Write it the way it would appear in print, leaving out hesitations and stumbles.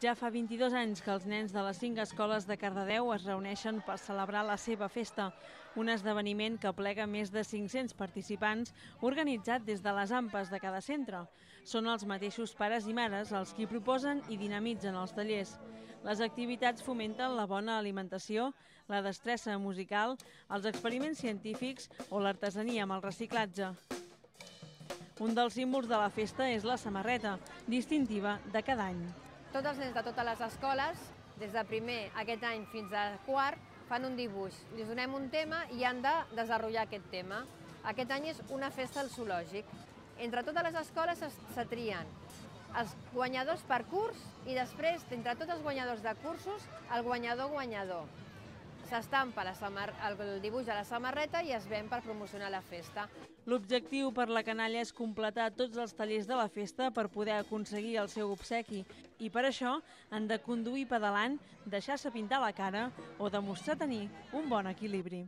Ja fa 22 anys que els nens de les 5 escoles de Cardedeu es reuneixen per celebrar la seva festa, un esdeveniment que aplega més de 500 participants organitzat des de les AMPAs de cada centre. Són els mateixos pares i mares els qui proposen i dinamitzen els tallers. Les activitats fomenten la bona alimentació, la destressa musical, els experiments científics o l'artesania amb el reciclatge. Un dels símbols de la festa és la samarreta, distintiva de cada any. Tots els nens de totes les escoles, des de primer aquest any fins a quart, fan un dibuix. Li donem un tema i han de desenvolupar aquest tema. Aquest any és una festa al zoològic. Entre totes les escoles se trien els guanyadors per curs i després, entre tots els guanyadors de cursos, el guanyador. S'estampa el dibuix a la samarreta i es ven per promocionar la festa. L'objectiu per la canalla és completar tots els tallers de la festa per poder aconseguir el seu obsequi i per això han de conduir pedalant, deixar-se pintar la cara o demostrar tenir un bon equilibri.